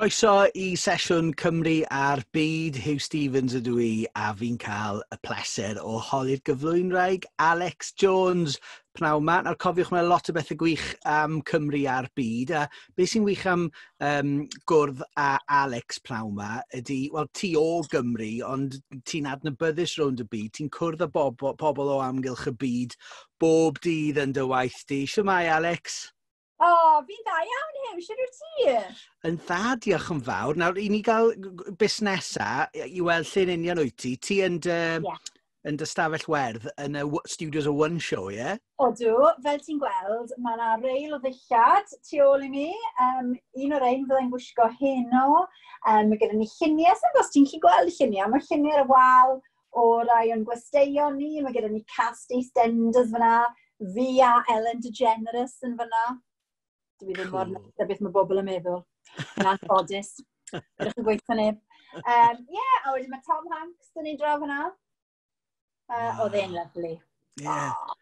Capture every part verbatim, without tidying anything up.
Croeso i sesiwn Cymru a'r Byd. Huw Stephens ydw i, a fi'n cael y pleser o holi'r gyflwynwraig Alex Jones pnawn 'ma. Nawr cofiwch, mae lot o bethau gwych am Cymru a'r byd. A beth sy'n wych am um, gwrdd â Alex pnawn 'ma ydy, wel, ti o Gymru, ond ti'n adnabyddus rownd y byd. Ti'n cwrdd â bob, pobl o amgylch y byd bob dydd yn dy waith di. Shwmae, Alex? O, oh, fi'n dda iawn, Huw. Shwt wyt ti? Yn dda, diolch yn fawr. Nawr, i ni gael busnesa i weld lle'n union wyt ti. Ti yn dy, yeah. yn dy stafell werdd yn y studios o One Show, ie? Yeah? Odw, fel ti'n gweld, mae yna reil o ddillad tu ôl i mi. Um, un o'r ein fyddai'n gwisgo heno. Um, mae gyda ni lluniau, sy'n os ti'n gallu gweld y lluniau. Mae lluniau ar y wal o rai o'n gwesteion ni. Mae gyda ni cast EastEnders fyna. Fi a Ellen DeGeneres yn fyna. Dwi ddim mor cool. Neis beth mae bobl yn meddwl. Yn anffodus. Ydych chi'n gweithio neb. Um, yeah, a wedyn mae Tom Hanks dyn ni draw fyna. Uh, wow. Oedd e'n lovely. Yeah. Oh,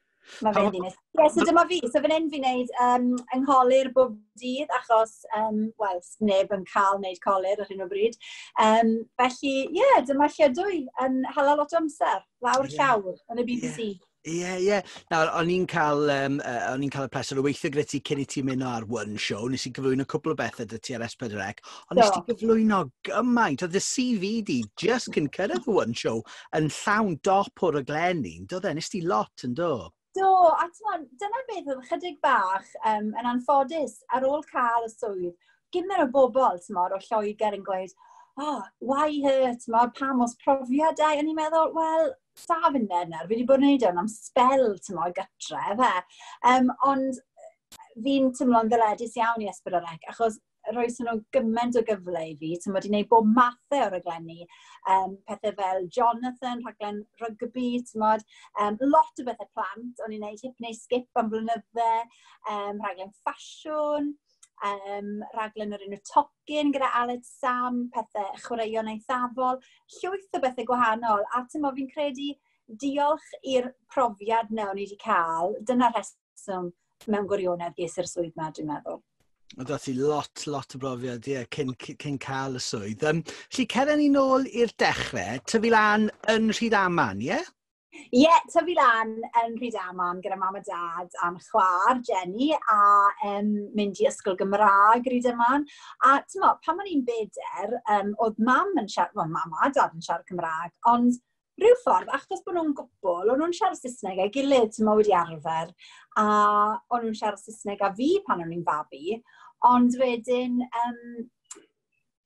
mae fe'n ddynes. Ie, yeah, so dyma fi. So fan hyn fi'n neud um, yng bob dydd, achos, um, wel, neb yn cael wneud colur ar hyn o bryd. Um, felly, ie, yeah, dyma lle dwi yn hala lot o amser, lawr yeah. llawr yn y B B C. Yeah. Ie, yeah, ie. Yeah. Nawr, o'n i'n cael, um, uh, o'n i'n cael y pleser o weithio gyda ti cyn i ti ymuno ar One Show. Nes i gyflwyno cwpl o bethau 'da ti ar S pedwar C. Ond nes ti gyflwyno gymaint. Oedd y C V di just cyn cyrraedd y One Show yn llawn dop o raglenni. Do e? Nes ti lot yn do? Do, a t'mod, dyna beth oedd chydig bach um, yn anffodus ar ôl cael y swydd. Gymaint o bobl, t'mod, o Lloegr yn gweud, "Oh, why her?" T'mod, "Pam oes profiadau?" A ni'n meddwl, wel, sa fi'n nawr, fi wedi bod yn neud hwn am sbel, t'mod, gytre, fe. Um, ond fi'n teimlo'n ddyledus iawn i S pedwar C, achos roes nhw gymaint o gyfle i fi, ti'n wedi gwneud bob mathau o raglenni, um, pethau fel Jonathan, rhaglen rygbi, ti'n um, lot o bethau plant, o'n i'n gwneud Hip neu Skip am blynydde, um, rhaglen ffasiwn, um, rhaglen o'r enw Tocyn gyda Aled Sam, pethau chwaraeon eithafol, llwyth o bethau gwahanol. A ti'n fi'n credu diolch i'r profiad na o'n i wedi cael, dyna'r rheswm mewn gwirionedd ges i'r swydd ma, dwi'n meddwl. Oedd ti lot, lot o brofiad, ie, cyn, cyn cael y swydd. Um, felly, ceren ni nôl i'r dechrau, tyfu lan yn Rhydaman, ie? Yeah? Ie, yeah, tyfu lan yn Rhydaman gyda mam a dad a'n chwaer, Jenny, a um, mynd i ysgol Gymraeg Rhydaman. A ti'n mo, pan o'n i'n beder, um, oedd mam yn siarad, well, mam a dad yn siarad Cymraeg, ond rhyw ffordd, achos bod nhw'n gwbl, o'n nhw'n siarad Saesneg a'i gilydd, ti'n mo, wedi arfer, a o'n nhw'n siarad Saesneg a fi pan o'n i'n fabi, ond wedyn, um,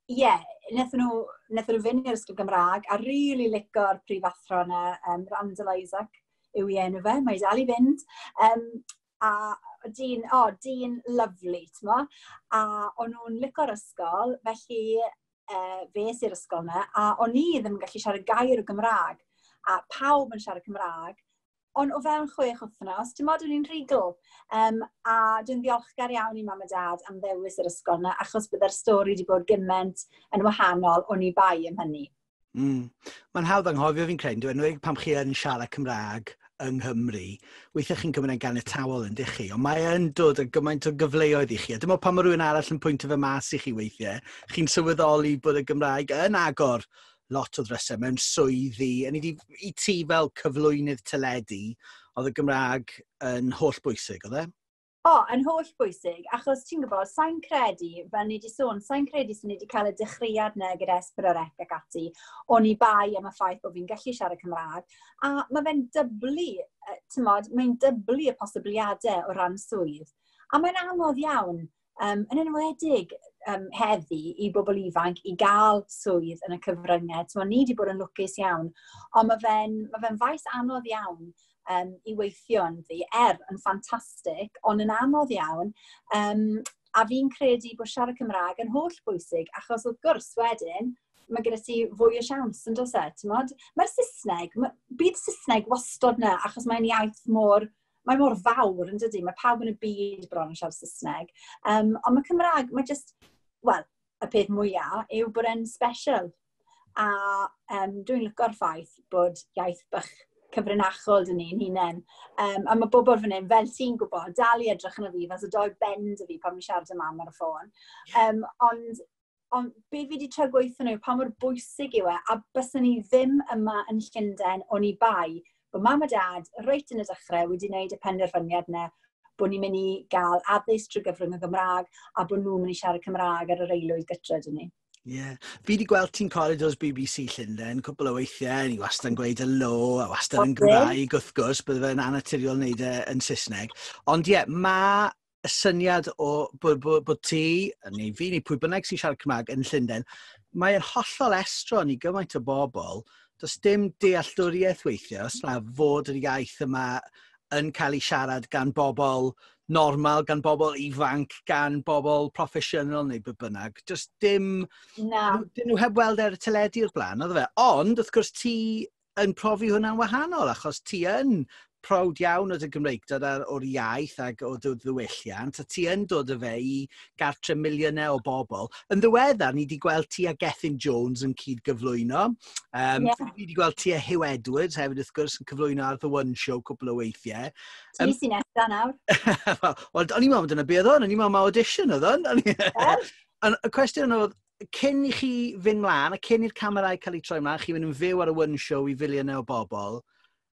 ie, yeah, wnaethon nhw, wnaethon nhw fynd i'r ysgol Gymraeg a rili really lico'r prifathro yna, um, Randall Isaac yw ei enw fe, mae dal i fynd. Um, a dyn, o, oh, dyn lovely, ti'n mo? A o'n nhw'n lico'r ysgol, felly uh, fe i'r ysgol yna, a o'n i ddim yn gallu siarad gair o Gymraeg, a pawb yn siarad Cymraeg, ond o fewn chwech wythnos, ti'n modd, o'n i'n rhugl. Um, a dwi'n ddiolchgar iawn i mam a dad am ddewis yr ysgol yna, achos bydde'r stori wedi bod gymaint yn wahanol o'n i bai am hynny. Mm. Mae'n hawdd anghofio, fi'n credu, dwi'n enwedig pam chi yn siarad Cymraeg yng Nghymru, weithiau chi'n cymryd yn ganiatawol yn dych chi, ond mae yn dod â gymaint o gyfleoedd i chi. A dim ond pan mae rhywun arall yn pwyntio fe mas i chi weithiau, chi'n sylweddoli bod y Gymraeg yn agor lot o ddrysau mewn swyddi. Yn i, i ti fel cyflwynydd teledu, oedd y Gymraeg yn holl bwysig, oedd e? O, oh, yn holl bwysig, achos ti'n gwybod, sa'n credu, fel ni wedi sôn, sa'n credu sy'n ni wedi cael y dechreuad na gyda S pedwar C ac ati, o'n i bai am y ffaith bod fi'n gallu siarad Cymraeg, a mae fe'n dyblu, ti'n modd, mae'n dyblu y posibiliadau o ran swydd. A mae'n anodd iawn, um, yn enwedig um, heddi i bobl ifanc i gael swydd yn y cyfryngau. T'mo, ni wedi bod yn lwcus iawn, ond mae fe'n ma fe faes anodd iawn um, i weithio ynddi, er yn ffantastig, ond yn anodd iawn. Um, a fi'n credu bod siarad Cymraeg yn holl bwysig, achos wrth gwrs wedyn, mae gyda ti fwy o siawns yn does e, ti'n Mae'r Saesneg, ma, byd Saesneg wastod na, achos mae'n iaith mor, mae mor fawr yn dydy, mae pawb yn y byd bron yn siarad Saesneg. Um, ond mae Cymraeg, mae just, wel, y peth mwyaf yw bod e'n special. A um, dwi'n lyco'r ffaith bod iaith bych cyfrinachol dyn ni'n hunain. Um, a mae bobl fan hyn, fel ti'n gwybod, dal i edrych yn y fi, fel so doi bend y fi pan fi'n siarad â mam ar y ffôn. Um, ond Ond be fi wedi trio gweithio nhw, pa mor bwysig yw e, a byswn ni ddim yma yn Llundain oni bai bod Mam a Dad reit yn y dechrau wedi wneud y penderfyniad yna bod ni'n mynd i gael addysg trwy gyfrwng y Gymraeg a bod nhw'n mynd i siarad Cymraeg ar yr aelwyd gytre dyn ni. Ie. Yeah. Fi wedi gweld ti'n corridors B B C Llundain cwpl o weithiau, ni wastad yn gweud hello, a wastad yn Gymraeg wrth gwrs, bydde fe'n anaturiol wneud e yn Saesneg. Ond ie, yeah, mae y syniad o bod, bod, bod ti, neu fi, neu pwy bynnag sy'n siarad Cymraeg yn Llundain, mae'n hollol estron i gymaint o bobl. Does dim dealltwriaeth weithiau, os na fod yr iaith yma yn cael ei siarad gan bobl normal, gan bobl ifanc, gan bobl proffesiynol neu be bynnag. Just dim. Na. Dyn nhw heb weld ar y teledu o'r blaen, oedd fe. Ond, wrth gwrs, ti yn profi hwnna'n wahanol, achos ti yn proud iawn o dy Gymreigdod o'r iaith ac o dy ddiwylliant, a ti yn dod â fe i gartre miliynau o bobl. Yn ddiweddar, ni wedi gweld ti a Gethin Jones yn cyd gyflwyno. Um, yeah. Ni wedi gweld ti a Huw Edwards hefyd, wrth gwrs, yn cyflwyno ar The One Show cwpl o weithiau. Ti um, sy'n nesa nawr. Wel, o'n i'n meddwl dyna beth oedd o'n, o'n i'n meddwl mae audition oedd o'n. Y cwestiwn oedd, cyn i chi fynd mlaen, a cyn i'r camerau cael eu troi mlaen, chi fynd yn fyw ar y One Show i filiynau o bobl,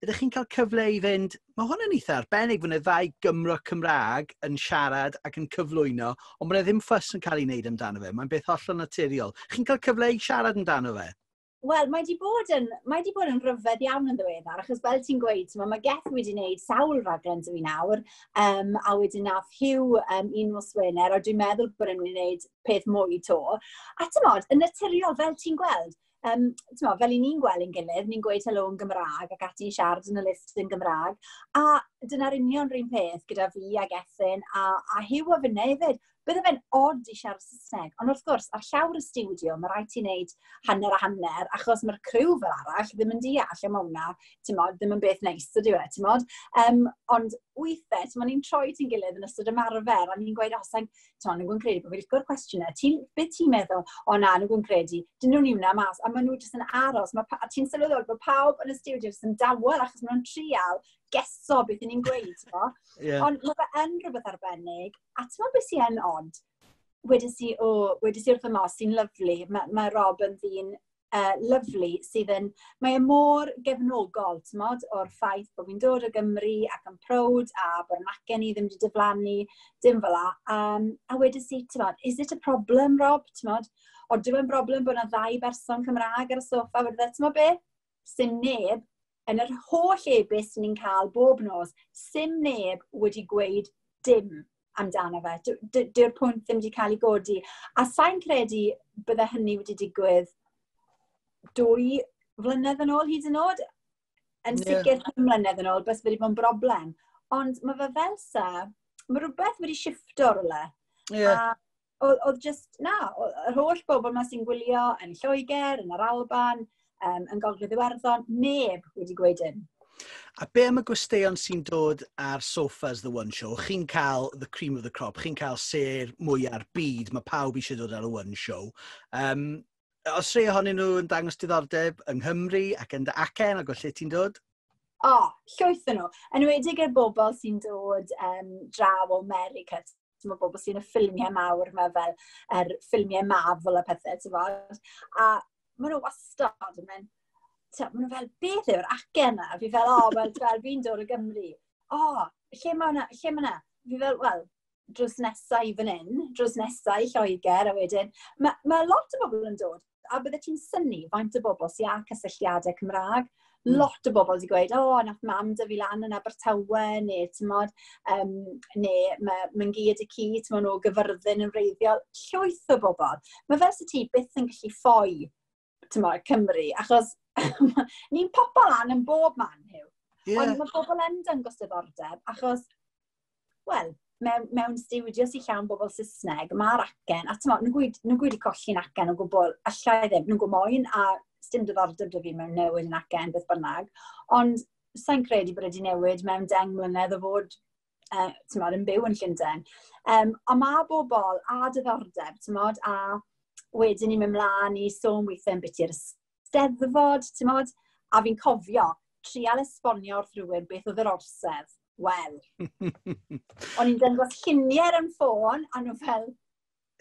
ydych chi'n cael cyfle i fynd, mae hwn yn eitha arbennig fod yna ddau Gymro Cymraeg yn siarad ac yn cyflwyno, ond mae ddim fuss yn cael ei wneud amdano fe. Mae'n beth hollol naturiol. Chi'n cael cyfle i siarad amdano fe? Wel, mae di bod yn, mae di bod yn rhyfedd iawn yn ddiweddar, achos fel ti'n gweud, mae, mae Geth wedi wneud sawl raglen 'da fi nawr, um, a wedyn nath Huw um, un nos Wener, a dwi'n meddwl bod e'n mynd i wneud peth mwy 'to. A ti'n yn naturiol, fel ti'n gweld, um, mo, fel i ni'n gweld yn gilydd, ni'n gweud helo yn Gymraeg ac ati'n siarad yn y lift yn Gymraeg. A dyna'r union rhywun peth gyda fi a Gethin a, a Huw a finne hefyd. Bydde fe'n odd i siarad Saesneg, ond wrth gwrs, ar llawr y stiwdio, mae rhaid ti wneud hanner a hanner, achos mae'r criw fel arall ddim yn deall am hwnna, ti'n ddim yn beth neis, ydyw e, ti'n mod? Um, ond weithiau, ti'n ni'n troi ti'n gilydd yn ystod ymarfer, a ni'n gweud, "O, sa'n, ti'n mod, nhw'n credu bod fi'n licio'r cwestiynau, ti, beth ti'n meddwl?" "O na, nhw'n credu, dyn nhw'n hwnna mas," a maen nhw jyst yn aros, ma, a ti'n sylweddoli bod pawb yn y stiwdio jyst yn dawel, achos maen nhw'n trial geso beth ni'n gweud, ti'n yeah. Ond mae fe yn rhywbeth arbennig, a ti'n meddwl beth sy'n yn odd? Wedes i, o, wedes i wrth y Moss, sy'n lyfli, mae, mae Rob yn ddyn uh, lyfli sydd yn, mae e mor gefnogol, ti'n mod, o'r ffaith bod fi'n dod o Gymru ac yn proud a bod yn acen i ddim wedi diflannu, dim fel la. Um, a wedes i, ti'n mod, "Is it a problem, Rob?" Ti'n mod, o dim yn broblem bod yna ddau berson Cymraeg ar y soffa, wedi, "Ti'n mod be? Sim neb yn yr holl e-byst ni'n cael bob nos, sim neb wedi gweud dim amdano fe. Dyw'r pwynt ddim wedi cael ei godi." A sa'n credu bydde hynny wedi digwydd dwy flynedd yn ôl hyd yn oed. Yn sicr yeah. pum mlynedd yn ôl, bys wedi bod yn broblem. Ond mae fe fel sa, mae rhywbeth wedi shifto rhywle. Yeah. A oedd just, na, yr holl bobl yma sy'n gwylio yn Lloegr, yn yr Alban, um, yn Gogledd Iwerddon, neb wedi gweud dim. A be am y gwesteion sy'n dod ar sofas The One Show? Chi'n cael the cream of the crop, chi'n cael sêr mwya'r byd, mae pawb eisiau dod ar y One Show. Um, os rhai ohonyn nhw yn dangos diddordeb yng Nghymru ac yn dy acen ac o lle ti'n dod? O, oh, llwyth yn nhw. Yn enwedig y bobl sy'n dod um, draw o America. Mae bobl sy'n y ffilmiau mawr yma fel yr ffilmiau Marvel a pethau, ti'n fod. A maen nhw wastad yn mynd, maen nhw fel, "Beth yw'r acen na?" Fi fel, "O, oh, wel, fel, fi'n dod o Gymru." "O, oh, lle mae hwnna? Lle mae hwnna?" Fi fel, "Wel, drws nesau i fan hyn, drws nesau i Lloegr," a wedyn, mae, mae lot o bobl yn dod, a bydde ti'n synnu faint o bobl sy'n â cysylltiadau Cymraeg. Mm. Lot o bobl wedi gweud, "O, oh, nath mam 'da fi lan yn Abertawe," neu, ti'n mod, um, neu mae mam-gu a tad-cu, ti'n mod, o Gyfyrddin yn wreiddiol. Llwyth o bobl. Mae fel sy ti byth yn gallu ffoi, ti'n mod, Cymru, achos ni'n popo lan yn bob man, Huw. Yeah. Ond mae bobl yn dangos diddordeb, achos, wel, mewn, mewn stiwdio sy'n llawn bobl Saesneg, mae'r acen, a ti'n nhw'n gweud, nhw gweud i colli'n acen o gwbl, allai ddim, nhw'n gwybod moyn, a sdim diddordeb 'da fi mewn newid yn acen, beth bynnag. Ond sa'n credu bod wedi newid mewn deng mlynedd o fod uh, mod, yn byw yn Llundain. Um, ond mae bobl a diddordeb, mod, a wedyn ni'n mynd mlaen i sôn weithiau yn biti'r Steddfod, ti'n mod, a fi'n cofio trial esbonio wrth rhywun beth oedd yr Orsedd. Wel, o'n i'n dangos lluniau ar yn ffôn, a nhw fel,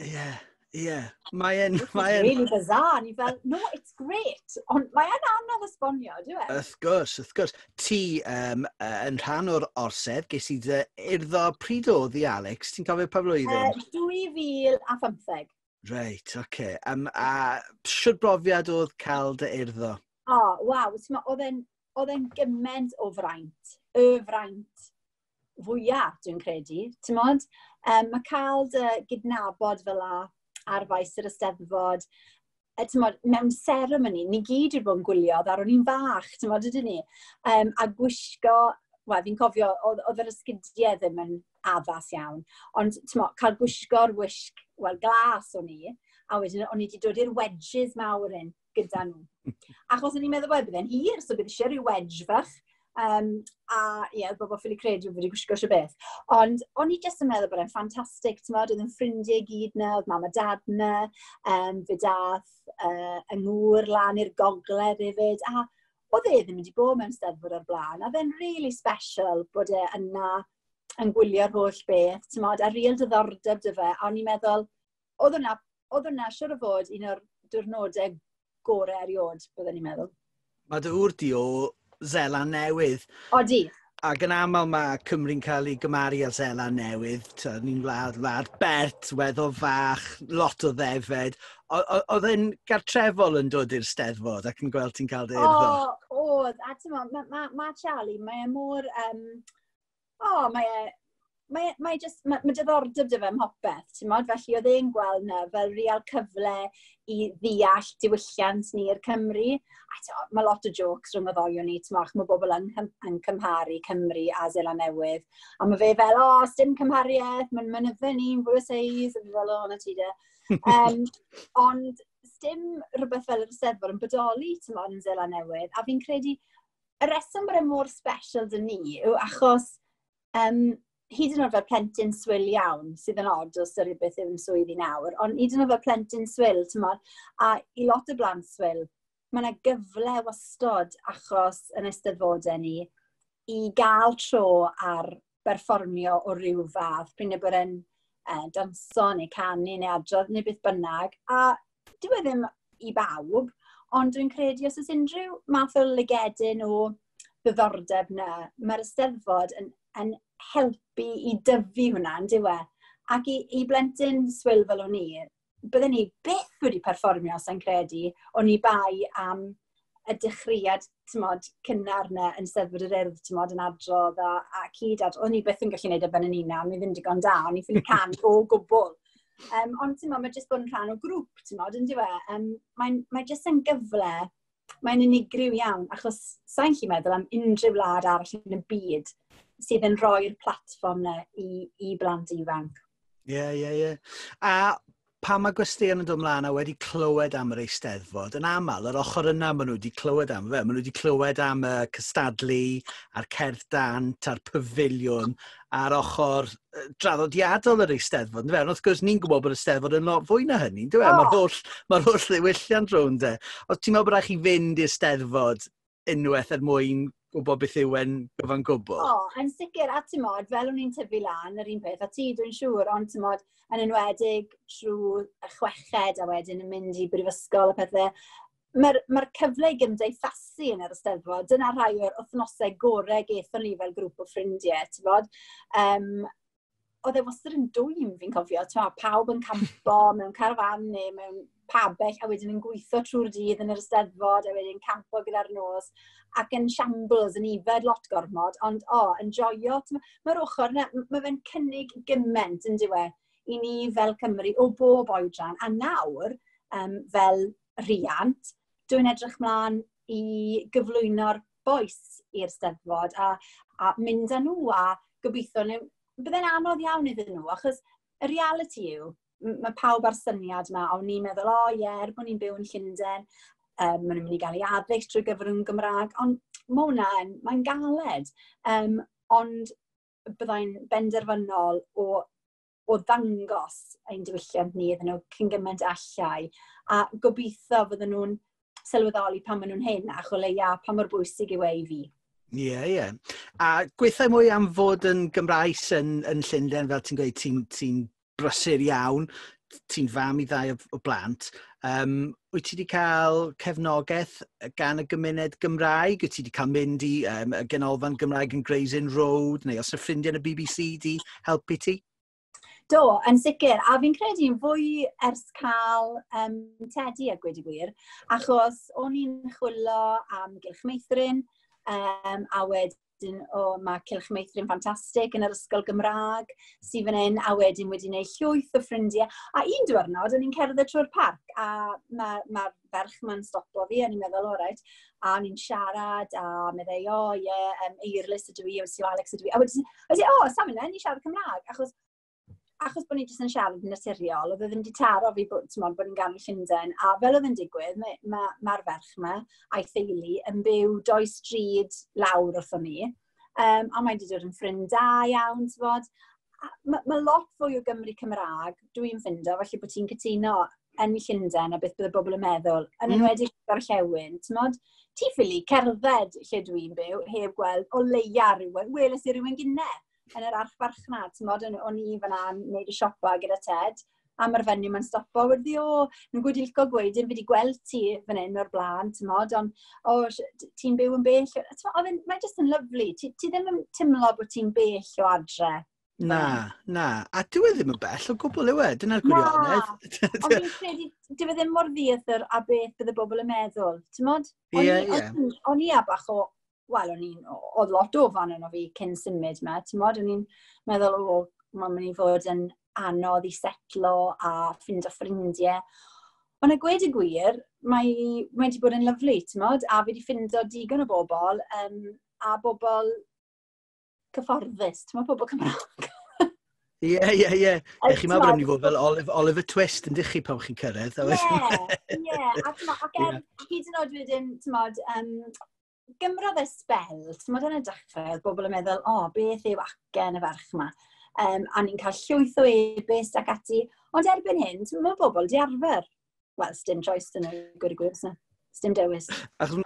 Ie, yeah, Ie, yeah, mae'n... Mae really bizarre. Ni fel, "No, it's great." Ond mae'n anodd esbonio, dyw e? Wrth gwrs, wrth gwrs. Ti um, yn rhan o'r orsedd, ges i dy urddo pryd oedd i, Alex? Ti'n cofio pa flwyddyn? Uh, dwy fil a phymtheg. Reit, oce. Okay. Um, a siwr brofiad oedd cael dy urddo? O, oh, waw. Oedd e'n gymaint o fraint. Y fraint fwyaf, dwi'n credu. Ti'n mod? Um, mae cael dy gydnabod fel 'na ar faes yr Eisteddfod, e, mod, mewn seremoni, ni gyd wedi bod yn gwylio, ddaru ni'n fach, ti'n mod, ydyn ni? Um, a gwisgo, wel, fi'n cofio, oedd, oedd yr esgidiau ddim yn addas iawn, ond ti'n mod, cael gwisgo'r wisg, wel, glas o'n i, a wedyn o'n i wedi dod i'r wedges mawr un gyda nhw. Achos o'n i'n meddwl, wel, bydd e'n hir, so bydd eisiau rhyw wedge fach. Um, a ie, yeah, bobl ffili credu wedi gwisgo eisiau beth. Ond o'n i jyst yn meddwl bod e'n ffantastig, ti'n modd, oedd yn ffrindiau gyd na, oedd mam a dad na, um, fe dath uh, yng ngŵr lan i'r gogledd hefyd, a oedd e ddim wedi bod mewn steddfod o'r blaen, a fe'n really special bod e yna yn gwylio'r holl beth, ti'n modd, a real diddordeb 'da fe, a o'n i'n meddwl, oedd hwnna, oedd hwnna siwr o fod un o'r diwrnodau gorau erioed, byddwn i'n meddwl. Mae dy ŵr di o Seland Newydd. Odi. Ac yn aml mae Cymru'n cael ei gymaru â Seland Newydd. Ni'n wlad, wlad bert, weddol fach, lot o ddefed. Oedd e'n gartrefol yn dod i'r Steddfod ac yn gweld ti'n cael dy urddo? O, oedd. A ti'n mae ma, ma Charlie, mae e mor... Um, o, mae e mae, mae, just, mae, mae diddordeb 'da fe ym mhopeth, ti'n mod? Felly oedd e'n gweld na fel real cyfle i ddeall diwylliant ni i'r Cymru. A ti'n, mae lot o jokes rhwng y ddoi o ni, ti'n mod, mae bobl yn, yn cymharu Cymru a Seland Newydd. A mae fe fel, "O, oh, dim cymhariaeth, mae'n mynydde ni'n fwy o seis," a fi fel, "O, na ti de." Um, ond dim rhywbeth fel yr Eisteddfod yn bodoli, ti'n mod, yn Seland Newydd. A fi'n credu, y reswm bod e mor special 'da ni yw achos um, hyd yn oed fel plentyn swil iawn, sydd yn od os ydy beth yw'n swydd i nawr, ond hyd yn oed fel plentyn swil, ti'n mod, a i lot o blant swil, mae yna gyfle wastod achos yn eisteddfodau ni i gael tro ar berfformio o ryw fath, pryd bod e'n eh, danso neu canu neu adrodd neu beth bynnag. A dyw e ddim i bawb, ond dwi'n credu os oes unrhyw math o lygedyn o ddiddordeb na, mae'r Eisteddfod yn, yn helpu i dyfu hwnna, yn dyw e? Ac i, i blentyn swil fel o'n i, bydden ni byth wedi perfformio, sa'n credu, o'n i bai am y dechreuad, tymod, cynnar na yn Steddfod yr Urdd, tymod, yn adrodd a, a cyd adrodd. O'n i byth yn gallu gwneud e ben yn unan, o'n i ddim digon da, o'n i ffili can o gwbl. Um, ond, tymod, mae jyst bod yn rhan o grŵp, tymod, yn dyw e? Um, Mae'n mae jyst yn gyfle, mae'n unigryw iawn, achos sa'n gallu meddwl am unrhyw wlad arall yn y byd sydd yn rhoi'r platfform na i, i blant ifanc. Ie, yeah, ie, yeah, ie. Yeah. A pan mae gwesteion yn dod ymlaen a wedi clywed am yr Eisteddfod, yn aml, yr ochr yna maen nhw wedi clywed am fe. Maen nhw wedi clywed am y cystadlu, a'r cerdd dant, a'r pafiliwn, a'r ochr draddodiadol yr Eisteddfod. Fe? Ond wrth gwrs, ni'n gwybod bod y Eisteddfod yn lot fwy na hynny, dyw e? Oh. Mae'r holl, ma holl ddiwylliant rownd e. Os ti'n meddwl bod rhaid chi fynd i'r Steddfod unwaith er mwyn gwybod beth yw e'n gyfan gwbl? O, oh, yn sicr, a ti'n mod, fel o'n i'n tyfu lan, yr un peth, a ti, dwi'n siŵr, ond ti'n mod, yn enwedig trwy y chweched a wedyn yn mynd i brifysgol a pethau, mae'r mae cyfle i gymdeithasu yn yr Eisteddfod, dyna rhai o'r wythnosau gorau gethon ni fel grŵp o ffrindiau, ti'n bod. Um, oedd e wastad yn dwym, fi'n cofio, ti'n bod, pawb yn campo mewn carafan neu mewn pabell a wedyn yn gweithio trwy'r dydd yn yr Eisteddfod a wedyn campo gyda'r nos ac yn shambles, yn ifed lot gormod, ond o, oh, yn joio. Mae'r ochr yna, mae fe'n cynnig gymaint yn dyw e i ni fel Cymru o bob oedran. A nawr, um, fel rhiant, dwi'n edrych mlaen i gyflwyno'r bois i'r Steddfod a, a mynd â nhw a gobeithio bydde'n anodd iawn iddyn nhw, achos y reality yw, mae pawb ar syniad yma, a o'n i'n meddwl, o oh, ie, er bod ni'n byw yn Llundain, um, maen nhw'n mynd i gael ei addysg trwy gyfrwng Gymraeg, ond mae hwnna yn, mae'n galed. Um, ond byddai'n benderfynol o, o ddangos ein diwylliant ni iddyn nhw cyn gymaint allai, a gobeithio fydden nhw'n sylweddoli pan maen nhw'n hyn, ac o leia pa mor bwysig yw e i fi. Ie, yeah, ie. Yeah. A gweithio mwy am fod yn Gymraes yn, yn Llundain, fel ti'n gweud, ti'n ti brysur iawn. Ti'n fam i ddau o, o blant. Um, wyt ti wedi cael cefnogaeth gan y gymuned Gymraeg? Wyt ti wedi cael mynd i um, y Ganolfan Gymraeg yn Gray's Inn Road? Neu os y ffrindiau yn y B B C di helpu ti? Do, yn sicr. A fi'n credu'n fwy ers cael um, Teddy a gweud y gwir, achos o'n i'n chwilio am Gylch Meithrin, um, a wedyn o, mae Cylch Meithrin ffantastig yn yr ysgol Gymraeg sydd fan hyn, a wedyn wedi gwneud llwyth o ffrindiau. A un diwrnod, o'n i'n cerdded trwy'r parc, a mae'r ma ferch ma'n stopo fi, a ni'n meddwl, "O reit," a ni'n siarad, a meddai, "O, ie, yeah, um, Eirlys ydw i, o, Alex ydw i." A wedyn, wedyn "O, Sam yna, ni'n siarad Cymraeg," achos achos bod ni jyst yn siarad yn naturiol, oedd e ddim wedi taro fi bod, bod ni'n ganol Llundain. A fel oedd yn digwydd, mae'r ma, ma ferch yma a'i theulu yn byw doi stryd lawr wrthon ni. Um, a mae wedi dod yn ffrind da iawn, ti'n. Mae ma lot fwy o Gymru Cymraeg, dwi'n ffindo, felly bod ti'n cytuno yn Llundain a beth bydd y bobl yn meddwl, yn mm. enwedig gorllewin, ti'n mod, ti ffili cerdded lle dwi'n byw, heb gweld o leia rhywun, weles i rhywun gynne yn yr archfarchnad, ti'n mod, o'n i fyna yn neud y siopa gyda Ted, a mae'r fenyw ma'n stopo, wedi, "O, nhw'n gwyd licio gweud, fi wedi gweld ti fan hyn o'r blaen, ti'n mod, ond, o, ti'n byw yn bell." Oedd mae'n just yn lyfli, ti, ti ddim yn teimlo bod ti'n bell o adre. Na, na. A dyw e ddim yn bell o gwbl yw e, dyna'r gwirionedd. Ond fi'n credu, dyw e ddim mor ddieithr a beth bydd y bobl yn meddwl, ti'n mod? Ie, ie. O'n i a bach o, wel, o'n i'n, oedd lot o fan yno fi cyn symud me, ti'n mod, o'n i'n meddwl, o, mae'n mynd i fod yn anodd i setlo a ffindo ffrindiau. Ond a gweud y gwir, mae, mae wedi bod yn lyfli, ti'n mod, a fi wedi ffindo digon o bobl, um, a bobl cyfforddus, ti'n mod, bobl Cymraeg. Ie, ie, ie. Chi'n meddwl bod yn mynd i fod fel Oliver, Oliver Twist yn dych chi pan chi'n cyrraedd? Ie, ie. Ac, ac er, hyd yn oed wedyn, ti'n mod, um, gymrodd e sbel, ti'n mod, yn y dechrau, oedd bobl yn meddwl, "O, beth yw acen y ferch yma?" Um, a ni'n cael llwyth o e-byst ac ati. Ond erbyn hyn, ti'n meddwl bobl di arfer. Wel, sdim choice dyn nhw, gwir y gwir, sdim dewis. Achos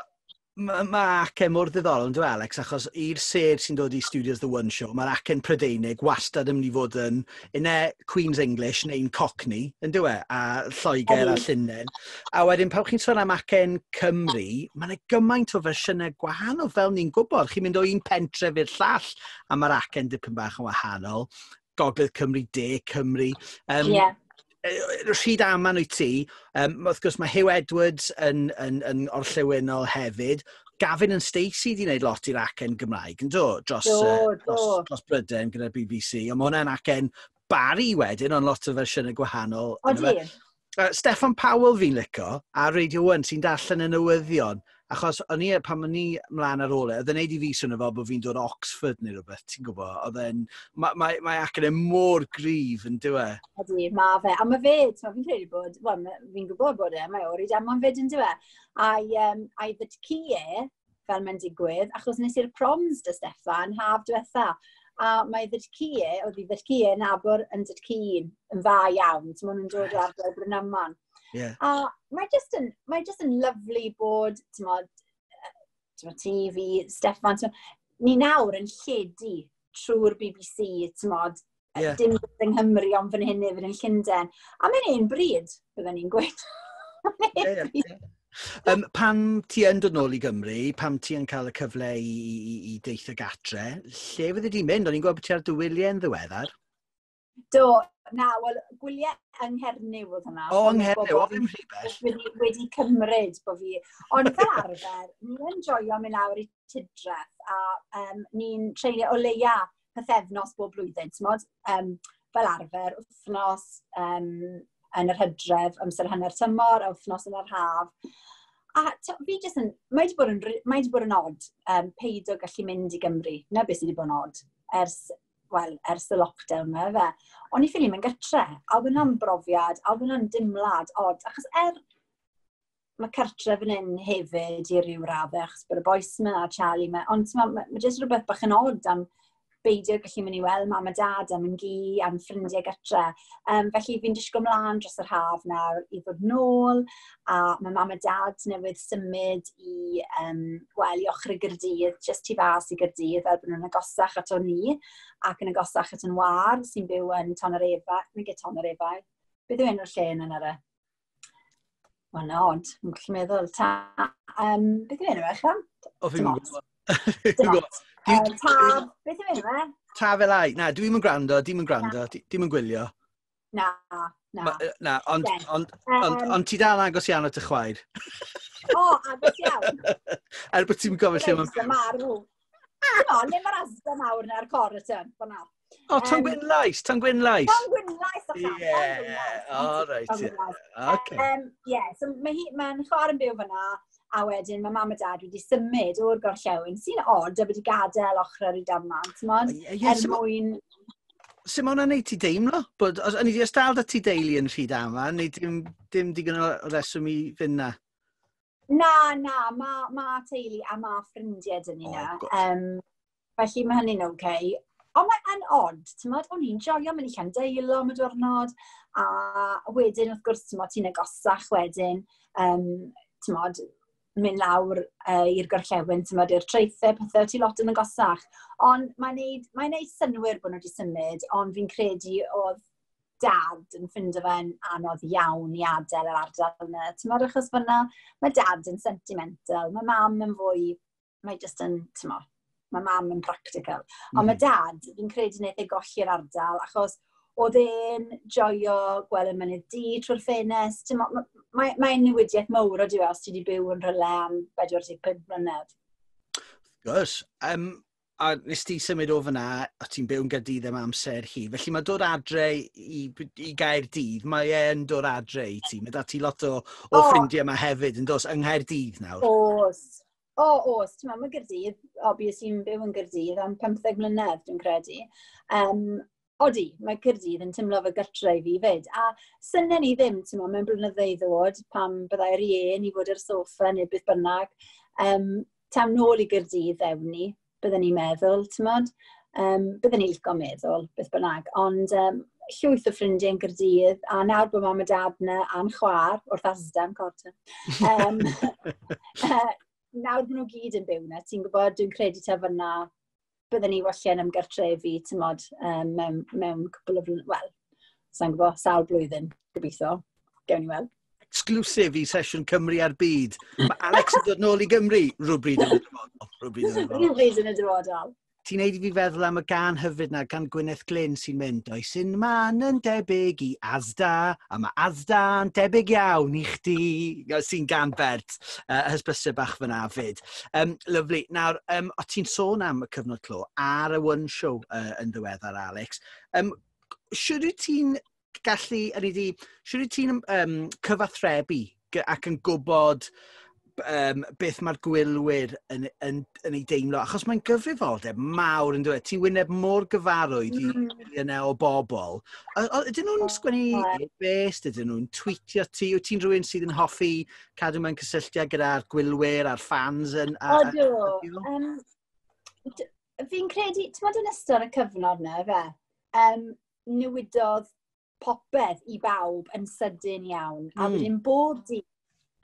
mae ma acen mor ddiddorol yn dweud, Alex, achos i'r sêr sy'n dod i Studios The One Show, mae'r acen Prydeinig wastad yn mynd i fod yn une Queen's English neu'n Cockney, yn dweud, a Lloegr a Llundain. A wedyn, pan chi'n sôn am acen Cymru, mae'n yna gymaint o fersiynau gwahanol, fel ni'n gwybod. Chi'n mynd o un pentref i'r llall, a mae'r acen dipyn bach yn wahanol. Gogledd Cymru, De Cymru. Um, yeah Rhyd aman wyt ti. Um, wrth gwrs mae Huw Edwards yn, yn, yn orllewinol hefyd. Gavin and Stacey di wneud lot i'r acen Gymraeg, yn do? Dros, do, uh, dros, dros Brydain gyda'r B B C. Ond mae hwnna'n acen Barry wedyn, ond lot o fersiynau gwahanol. Odi. Uh, Steffan Powell fi'n licio, ar Radio un sy'n darllen y newyddion. Achos o'n i, pan o'n i mlaen ar ôl e, oedd e'n neud i fi swnio fel bod fi'n dod o Oxford neu rhywbeth, ti'n gwybod? Oedd e'n, mae ma, ma acen e mor gryf yn dyw e. Ydy, mae fe. A mae fe, ti'n, fi'n credu bod, wel, fi'n gwybod bod e, mae o'r Rydaman fyd yn dyw e. A'i, um, a'i ddydcu e, fel mae'n digwydd, achos nes i'r proms dy Steffan haf diwetha. A mae ddydcu e, oedd ei ddydcu e nabod yn dydcu yn dda iawn, ti'n mwyn yn dod o ardal Brynaman. Yeah. A mae just yn, mae just yn lyfli bod, ti'n mod, ti'n mod, ti, fi, Steffan, ti'n, ni nawr yn lledu trwy'r B B C, ti'n mod, yeah. dim yng Nghymru ond fan hyn hefyd yn Llundain. A mae'n un bryd, byddwn ni'n gweud. yeah, yeah. Um, pan ti yn dod nôl i Gymru, pan ti yn cael y cyfle i, i, i deithio gatre, lle fyddi di'n mynd? O'n i'n gweld bod ti ar dy wyliau yn ddiweddar. Do, na, wel, gwyliau yng Nghernyw oedd hwnna. O, yng Nghernyw, o, ddim rhy bell. Wedi, wedi cymryd bod fi. Ond fel arfer, ni'n joio mynd lawr i Tudreth a um, ni'n treulio o leia pythefnos bob blwyddyn, ti'n mod? Um, fel arfer, wythnos um, yn yr hydref, amser hanner tymor, a wythnos yn yr haf. A fi jyst yn, mae wedi bod yn, mae wedi bod yn odd um, peidio gallu mynd i Gymru. Na beth sydd wedi bod yn odd ers, well, ers y lockdown yma, fe. O'n i ffili mynd gytre, a oedd hwnna'n brofiad, a oedd hwnna'n dimlad odd, achos er mae cartref yn un hefyd i ryw raddau, achos bod y bois yma a Charlie yma, ond mae ma, ma jyst rhywbeth bach yn odd am beidio gallu mynd i weld mam a dad am yn gi, am ffrindiau gatre. Um, felly fi'n disgwyl mlaen dros yr haf nawr i ddod nôl, a mae mam a dad newydd symud i, um, wel, i ochr y Gaerdydd, just tu fas i Gaerdydd, fel bod nhw'n agosach ato ni, ac yn agosach at yn war, sy'n byw yn Tonyrefail, neu Tonyrefail. Beth yw enw'r lle yna ar e? Wel, na, ond, yn gallu meddwl. Ta, um, beth yw enw e, chan? O, fi'n gwybod. Ta, beth yw enw e? Taf Elai. Na, dwi'n mynd gwrando, dwi'n mynd gwrando, dwi'n mynd gwylio. Na, na. Ma, na, ond, ond, ond, um, ond ti dal agos iawn at y chwaer. O, agos iawn. Er bod ti'n gofyn lle mae'n... Marw. Come on, le mae'r Asda mawr na'r cor y tyn, fyna. O, Ton Gwynlais, Ton Gwynlais. Ton Gwynlais, o Ie, o, reit. Okay. Um, yeah, so mae mae'n chwaer yn byw fyna, a wedyn mae mam a dad wedi symud o'r gorllewin, sy'n odd, a wedi gadael ochr ar ei daman, ti'n modd, er mwyn... Sut mae hwnna'n neud ti deimlo? Bod, os, o'n i di os dal da ti deulu yn Rhydaman, neu dim, dim digon o reswm i fynd na? Na, na, mae ma teulu a ma ffrindiau dyn ni na. Oh, um, felly mae hynny'n oce. Okay. Ond mae'n odd, ti'n modd, o'n i'n joio mynd i Llandeilo am y diwrnod, a wedyn, wrth gwrs, ti'n modd, ti'n agosach wedyn, um, ti'n modd, mynd lawr uh, i'r gorllewin, ti'n modd, i'r traethau, pethau, ti lot yn agosach. Ond mae'n neud, mae'n neud synnwyr bod nhw wedi symud, ond fi'n credu oedd dad yn ffindo fe'n anodd iawn i adael yr ardal yna. Ti'n modd, achos fyna, mae dad yn sentimental, mae mam yn fwy, mae just yn, ti'n modd, mae mam yn practical. Ond mm. mae dad, fi'n credu wnaeth ei golli'r ardal, achos oedd e'n joio gweld y mynydd du trwy'r ffenest. Mae'n mae, mae newidiaeth mawr o diwedd os ti wedi byw yn rhywle am pedwar deg pump mlynedd. Wrth gwrs. Um, a nes ti symud o fyna, o ti'n byw yn Gaerdydd am amser hi. Felly mae dod adre i, i Gaerdydd, mae e'n dod adre i ti. Mae da ti lot o, o oh. ffrindiau yma hefyd yn dos yng Nghaerdydd nawr. Oes. O, oes. Ti'n meddwl, mae Gaerdydd, obviously, yn byw yn Gaerdydd am pymtheg mlynedd, dwi'n credu. Um, odi, mae Caerdydd yn teimlo fel gartre i fi fyd. A synen ni ddim, ti'n meddwl, mewn blynyddoedd i ddod, pam byddai rieni i fod ar soffa neu beth bynnag. Um, tam nôl i Gaerdydd ewn ni, bydden ni'n meddwl, ti'n meddwl. Um, bydden ni'n licio meddwl, beth bynnag. Ond um, llwyth o ffrindiau yn Gaerdydd, a nawr bod mam a dad yna a'n chwaer, wrth Asda am corta. Um, uh, nawr bod nhw gyd yn byw yna, ti'n gwybod, dwi'n credu ta fyna, bydden ni walle'n ymgartrefu, ti'n mod, um, mewn, mewn cwpl o flynyddoedd, wel, sa'n gwybod, sawl blwyddyn, gobeithio, gewn ni weld. Exclusive i Sesiwn Cymru a'r Byd. Mae Alex yn dod nôl i Gymru rhywbryd yn y dyfodol. Rhywbryd yn y dyfodol. Rhywbryd yn y dyfodol. Ti'n neud i fi feddwl am y gan hyfryd na, gan Gwyneth Glyn sy'n mynd, does un man yn debyg i Asda, a mae Asda'n debyg iawn i chdi, sy'n gan Bert, uh, hysbysau bach fyna fyd. Um, lovely. Nawr, um, o ti'n sôn am y cyfnod clo ar y One Show uh, yn ddiweddar, Alex. Um, Siwr wyt ti'n gallu, ydy di, siwr wyt ti'n um, cyfathrebu ac yn gwybod um, beth mae'r gwylwyr yn, yn, yn ei deimlo, achos mae'n gyfrifoldeb mawr yn dweud, ti'n wyneb mor gyfarwydd i mm. miliynau o bobl. O, o, ydyn nhw'n sgwennu e-bost, ydyn nhw'n tweetio ti, wyt ti'n rhywun sydd yn hoffi cadw mewn cysylltiad gyda'r gwylwyr a'r fans? Yn, a, Odw. Um, fi'n credu, ti'n modd yn ystod y cyfnod na, fe, um, newidodd popeth i bawb yn sydyn iawn. A mm. wedyn bob dydd,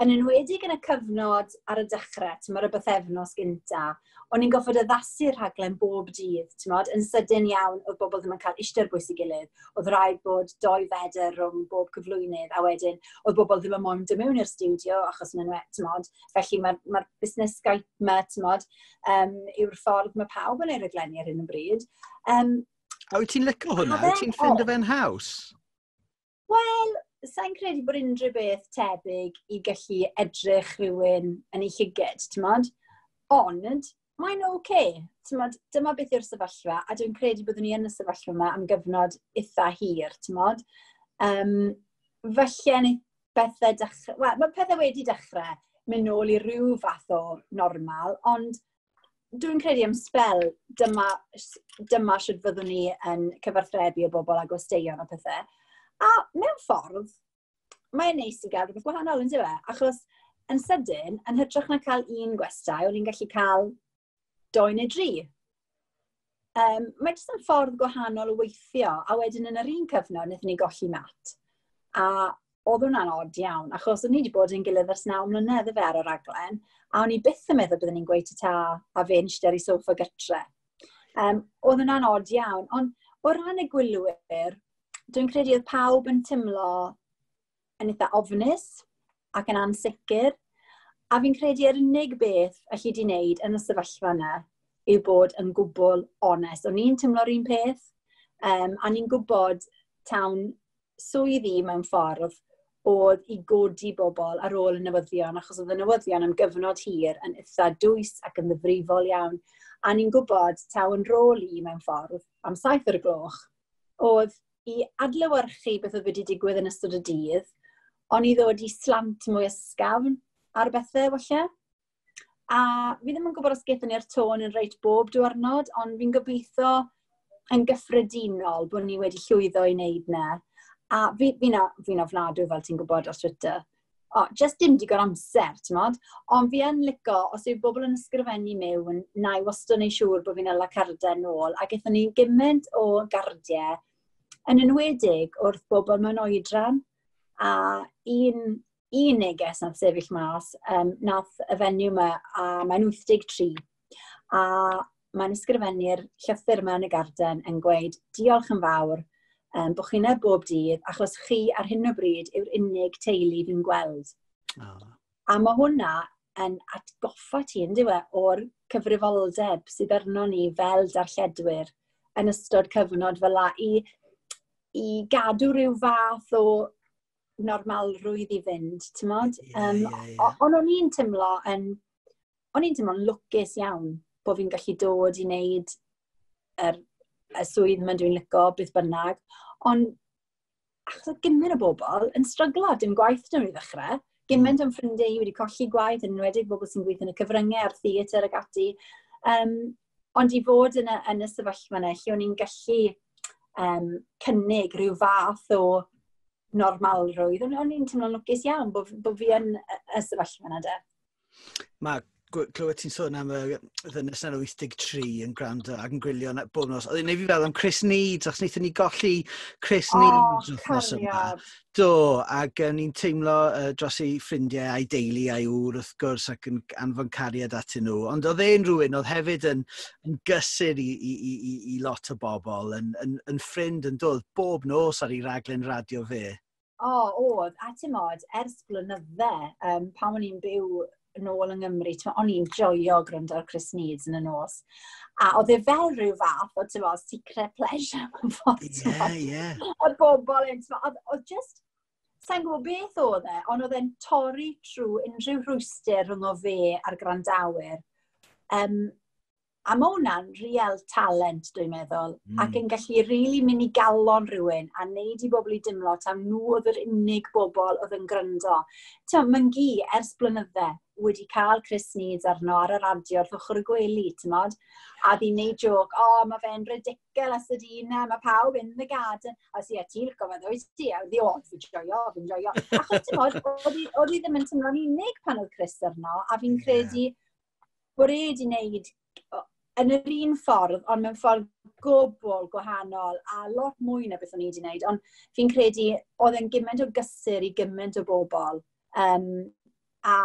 yn enwedig yn y cyfnod ar y dechrau, ti'n modd, y bythefnos gynta, o'n i'n goffod addasu'r rhaglen bob dydd, ti'n modd, yn sydyn iawn, oedd bobl ddim yn cael eistedd bwys ei gilydd, oedd rhaid bod doi fedr rhwng bob cyflwynydd, a wedyn oedd bobl ddim yn moyn dod mewn i'r stiwdio, achos maen nhw, ti'n modd, felly mae'r mae busnes Skype ma, ti'n modd, um, yw'r ffordd mae pawb yn ei raglenni ar hyn o bryd. Um, a wyt ti'n licio hwnna? Wyt ti'n ffindo fe'n haws? Wel, sa'n credu bod unrhyw beth tebyg i gallu edrych rhywun yn ei llyged, ti'n modd? Ond, mae'n oce. Okay, ti'n modd, dyma beth yw'r sefyllfa, a dwi'n credu byddwn ni yn y sefyllfa yma am gyfnod eitha hir, ti'n modd? Um, falle ni bethau dechrau... Wel, mae pethau wedi dechrau mynd nôl i ryw fath o normal, ond dwi'n credu am sbel dyma, dyma sut fyddwn ni yn cyfathrebu o bobl a gwesteion a pethau. A mewn ffordd, mae'n neis i gael rhywbeth gwahanol, yn dyw e? Achos yn sydyn, yn hytrach na cael un gwestai, o'n i'n gallu cael doi neu dri. Um, mae jyst yn ffordd gwahanol o weithio, a wedyn yn yr un cyfnod, wnaethon ni golli Matt. A oedd hwnna'n od iawn, achos o'n i wedi bod yn gilydd ers naw mlynedd y fe ar y raglen, a o'n i byth yn meddwl byddwn ni'n gweud ta a fe'n eistedd ar ei soffa gytre. Um, oedd hwnna'n od iawn, ond o ran y gwylwyr, Dwi'n credu oedd pawb yn teimlo yn eitha ofnus ac yn ansicr. A fi'n credu yr unig beth alli di wneud yn y sefyllfa yna yw bod yn gwbl onest. O'n i'n teimlo'r un peth, um, a ni'n gwybod tawn swydd i mewn ffordd oedd i godi bobl ar ôl y newyddion, achos oedd y newyddion am gyfnod hir yn eitha dwys ac yn ddifrifol iawn. A ni'n gwybod taw yn rôl i mewn ffordd am saith o'r gloch oedd i adlewyrchu beth oedd wedi digwydd yn ystod y dydd, ond i ddod i slant mwy ysgafn ar bethau, falle. A fi ddim yn gwybod os gaethon ni'r tôn yn reit bob diwrnod, ond fi'n gobeithio yn gyffredinol bod ni wedi llwyddo i wneud 'na. A fi, fi'n fi ofnadw, fel ti'n gwybod, ar Twitter. O, just dim digon amser, ti'n mod? Ond fi yn lico, os yw bobl yn ysgrifennu mewn, na i wastad wneud siŵr bod fi'n hala cardiau nôl. A gaethon ni gymaint o gardiau, yn enwedig wrth bobl mewn oedran. A un, un neges nath sefyll mas, um, nath y fenyw yma, a mae'n wyth deg tri. A mae'n ysgrifennu'r llythyr yma yn y garden yn gweud, "Diolch yn fawr um, bod chi'n bob dydd, achos chi ar hyn o bryd yw'r unig teulu fi'n gweld." Oh. A mae hwnna yn atgoffa ti, yn dyw e, o'r cyfrifoldeb sydd arno ni fel darlledwyr yn ystod cyfnod fel la i, i gadw rhyw fath o normalrwydd i fynd, ti'n mod? Yeah, um, yeah, yeah. Ond o'n i'n teimlo yn, o'n i'n teimlo'n lwcus iawn bod fi'n gallu dod i wneud yr, y swydd yma dwi'n lico, beth bynnag. Ond achos oedd gymaint o bobl yn stryglo, dim gwaith dyn nhw i ddechrau. Gymaint o'n ffrindiau i wedi colli gwaith, yn enwedig bobl sy'n gweithio yn y cyfryngau a'r theatr ac ati. Um, ond i fod yn y, yn y sefyllfa yna, lle o'n i'n gallu um, cynnig rhyw fath o normalrwydd, o'n i'n teimlo'n lwcus iawn bod, bod fi yn y, y sefyllfa yna de. Mae clywed ti'n sôn am y ddynes yna'n wyth deg tri yn gwrando ac yn gwylio bob nos. Oedd e'n neud fi feddwl am Chris Needs, achos wnaethon ni golli Chris oh, Needs wythnos yma. Do, ac uh, ni'n teimlo uh, dros ei ffrindiau a'i deulu a'i ŵr wrth gwrs ac yn anfon cariad atyn nhw. Ond oedd e'n rhywun oedd hefyd yn, yn gysur i, i, i, i, i lot o bobl, yn, yn, yn ffrind yn dod bob nos ar ei raglen radio fe. O, oh, oedd. A ti'n mod, ers blynydde, um, pan o'n i'n byw nôl yng Nghymru, o'n i'n joio gwrando ar Chris Needs yn y nos. A oedd e fel rhyw fath o, ti'n mod, secret pleasure mewn ffordd. Ie, ie. Oedd bobl yn, oedd, oedd just, sa'n gwybod beth oedd e, ond oedd e'n torri trwy unrhyw rhwystr rhwng o fe a'r gwrandawyr. Um, a mae hwnna'n real talent, dwi'n meddwl, mm. ac yn gallu rili really mynd i galon rhywun a neud i bobl i dimlo tam nhw oedd yr unig bobl oedd yn gryndo. Ti'n, mae'n gi ers blynydde wedi cael Chris Needs arno ar y radio wrth ochr y gwely, ti'n mod? A ddi'n neud joc, "O, oh, mae fe'n ridiculous ydy na, mae pawb in the garden." A si, "A ti'n licio fe, ddweud ti?" A ddi, "O, fi'n joio, fi'n joio." Achos, ti'n mod, oedd hi ddim yn teimlo'n unig pan oedd Chris arno, a fi'n credu yeah. bod e wedi wneud yn yr un ffordd, ond mewn ffordd gwbl gwahanol a lot mwy na beth o'n i wedi wneud. Ond fi'n credu oedd e'n gymaint o gysur i gymaint o bobl. Um, a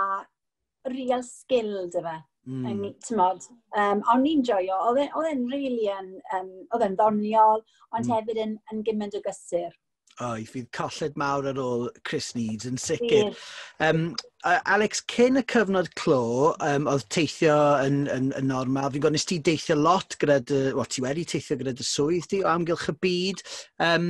real skill dy fe. Mm. T'mod, um, o'n i'n joio, oedd e'n really yn, um, oedd e'n ddoniol, ond mm. hefyd yn, yn gymaint o gysur. O, oh, fydd colled mawr ar ôl Chris Needs yn sicr. Um, Alex, cyn y cyfnod clo, um, oedd teithio yn, yn, yn normal. Fi'n gwybod nes ti deithio lot gyda dy, well, ti wedi teithio gyda dy swydd di o amgylch y byd. Um,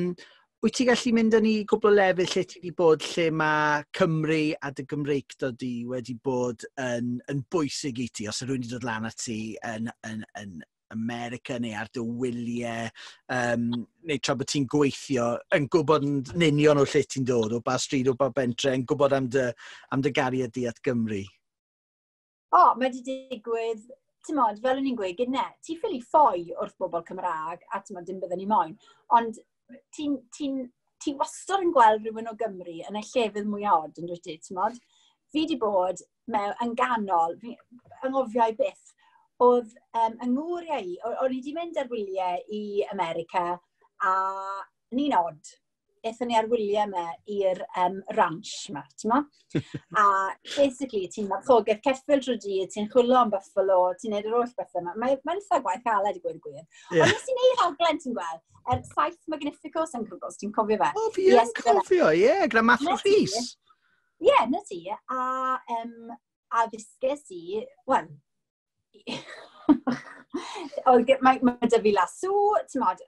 wyt ti gallu mynd â ni gwbl o lefydd lle ti wedi bod lle mae Cymru a dy Gymreictod di wedi bod yn, yn bwysig i ti, os yw rhywun wedi dod lan at ti yn, yn, yn America neu ar dy wyliau, um, neu tra bod ti'n gweithio, yn gwybod yn union o lle ti'n dod, o ba stryd, o ba bentre, yn gwybod am dy, am dy gariad di at Gymru? O, oh, mae wedi digwydd, ti'n modd, fel o'n i'n gweud, gyda, ti ffili ffoi wrth bobl Cymraeg, a ti'n modd, dim byddwn ni moyn, ond ti'n ti, ti wastad yn gweld rhywun o Gymru yn y llefydd mwy od, yn dwyt ti, ti'n modd? Fi wedi bod mewn, yn ganol, fi, anghofiau byth, oedd um, yng ngŵr i, o'n i wedi mynd ar wyliau i America, a ni'n od. aethon ni ar wyliau yma i'r um, ranch yma, ti'n mo? A basically, ti'n marchogaeth ceffyl drwy dydd, ti'n chwilio am buffalo, ti'n neud yr holl bethau yma. Mae'n mae eitha gwaith caled i gweud y gwir. Yeah. Ond nes i neud rhaglen, ti'n gweld, er Saith Magnificos yn gwybod, ti'n cofio fe? O, fi yn cofio, ie, yeah, gyda Matthew Rhys. Ie, yeah, na ti. A, um, a ddysges i, wel, mae, mae 'da fi lasw, ti'n modd,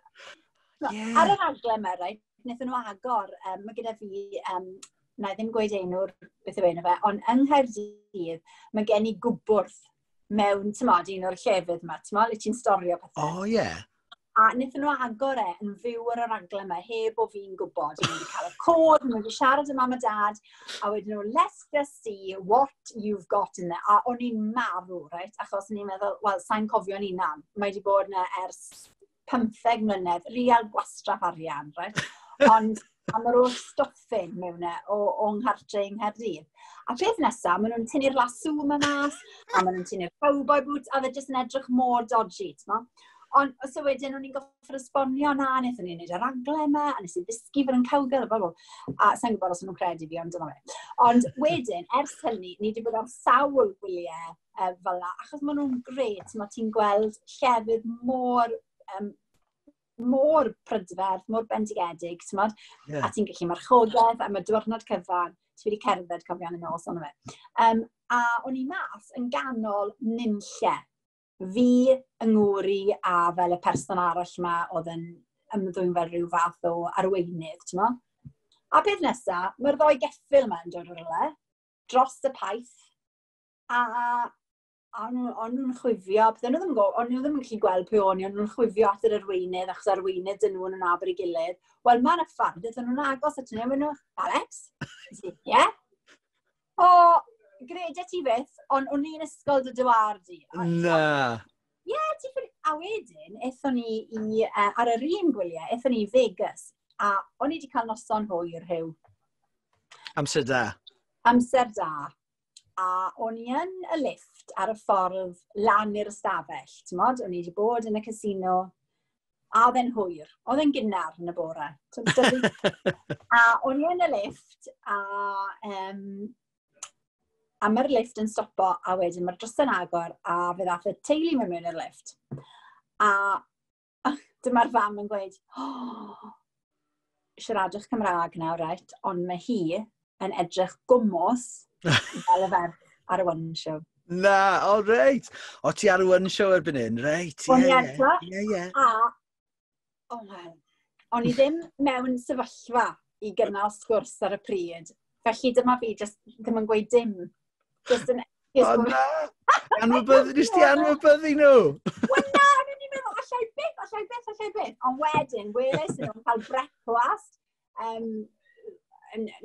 yeah. Ar y rhaglen yma, right, wnaethon nhw agor, um, mae gyda fi, um, na i ddim gweud enw'r beth yw enw fe, ond yng Nghaerdydd, mae gen i gwbwrdd mewn, ti'n modd, un o'r llefydd yma, ti'n modd, le ti'n storio pethau. O, oh, ie. Yeah. A wnaethon nhw agor e yn fyw ar y raglen yma, heb o fi'n gwybod. O'n i wedi cael y cod, o'n i wedi siarad â mam a dad, a wedyn nhw, "Let's just see what you've got in there." A o'n i'n marw, right? Achos o'n i'n meddwl, wel, sa'n cofio'n hunan. Mae wedi bod yna ers pymtheg mlynedd, real gwastraff arian, right? Ond a mae'r holl stuffing mewn e o, o nghartre yng Nghaerdydd. A peth nesaf, maen nhw'n tynnu'r lasw yma mas, a maen nhw'n tynnu'r cowboy boots, a fe jyst yn edrych mor dodgy, ti'n Ond so wedyn o'n i'n goffod esbonio na, wnaethon ni'n gwneud y raglen yma, a nes i ddysgu fod yn cowgirl, a blah, blah. A sa'n gwybod os nhw'n credu fi, ond dyna fe. Ond wedyn, ers hynny, ni wedi bod ar sawl gwyliau uh, fel la, achos maen nhw'n gret, mae ti'n gweld llefydd mor, um, mor prydferth, mor bendigedig, ti'n modd? Yeah. A ti'n gallu marchogaeth, a mae diwrnod cyfan, ti wedi cerdded cofion yn nos, ond fe. Um, a o'n i mas yn ganol nunlle. Fi, yng ngŵr i, a fel y person arall yma oedd yn ymddwyn fel rhyw fath o arweinydd, ti'n mo? A peth nesaf, mae'r ddoi geffyl yma yn dod o'r rhywle, dros y paith, a a o'n nhw'n chwifio, bydden nhw ddim, o'n nhw ddim yn gallu gweld pwy o'n i, o'n nhw'n chwifio at yr arweinydd, achos arweinydd dyn nhw yn nabod ei gilydd. Wel, mae'n y ffordd, ydyn nhw'n agos at nhw, a nhw, "Alex?" Ie? Yeah? O, gredia ti byth, ond o'n i'n ysgol dy dywar di. Na. Ie, yeah, ti ffili. A wedyn, aethon ni i, uh, ar yr un gwyliau, aethon ni i Vegas. A o'n i wedi cael noson hwyr rhyw. Amser da. Amser da. A o'n i yn y lift ar y ffordd lan i'r ystafell. Ti'n modd, o'n i wedi bod yn y casino. A oedd e'n hwyr. Oedd e'n gynnar yn y bore. A o'n i yn y lift, a, um, a mae'r lift yn stopo, a wedyn mae'r drws yn agor, a fe ddath y teulu mewn mewn i'r lift. A dyma'r fam yn gweud, "Oh, siaradwch Cymraeg nawr, right? Ond mae hi yn edrych gwmws fel y ferch ar y One Show." Na, o reit. O ti ar y One Show erbyn hyn, reit. Ie, ie, ie, ie. A, oh well, o'n i ddim mewn sefyllfa i gynnal sgwrs ar y pryd. Felly dyma fi just ddim yn gweud dim. Just yn. O na! Anwybyddu, nes ti anwybyddu nhw? Wel na, o'n i'n meddwl, allai byth, allai byth, allai byth. Ond wedyn, weles i nhw'n cael brecwast um,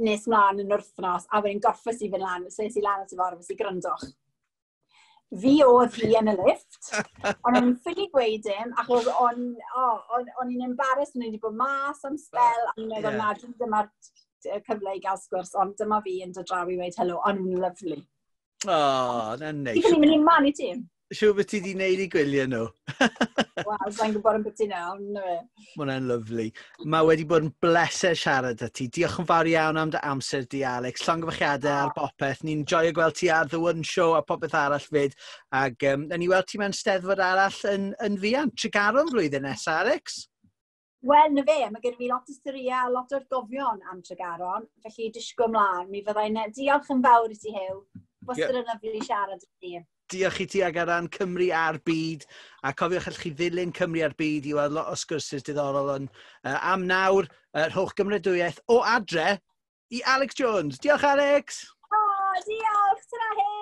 nes mlaen yn wythnos, a wedyn gorffes i fynd lan, so es i lan at y ffordd, es i gryndwch. Fi oedd hi yn y lift, ond o'n i'n ffili gweud dim, achos o'n oh, on, on i'n embarrassed, o'n i wedi bod mas am spel, a o'n i'n meddwl, yeah, na, dyma'r cyfle i gael sgwrs, ond dyma fi yn dod draw i weud helo, o'n nhw'n lyfli. O, oh, na'n neis. Ti'n mynd i man i ti? Siŵr beth ti wedi gwneud i gwylio nhw. Wel, sa'n gwybod yn beth ti nawr, na fe. Mae hwnna'n lyfli. Mae wedi bod yn bleser siarad â ti. Diolch yn fawr iawn am dy amser di, Alex. Llongyfarchiadau ar bopeth. Ni'n joio gweld ti ar The One Show a popeth arall fyd. Ac um, ni weld ti mewn steddfod arall yn, yn fuan. Tregaron flwyddyn nesaf, Alex? Wel, na fe, mae gen i fi lot o storïau, lot o'r gofion am Tregaron, felly disgwyl mlaen. Mi fyddai'n. Diolch yn fawr i ti, Huw. Wastad yn lyfli siarad i ti. Diolch i ti ag ar ran Cymru a'r byd. A cofiwch allwch chi ddilyn Cymru a'r byd i weld lot o sgwrsys diddorol. Ond uh, am nawr, uh, rhowch gymeradwyaeth o adre i Alex Jones. Diolch, Alex! O, oh, diolch! Tara, Huw!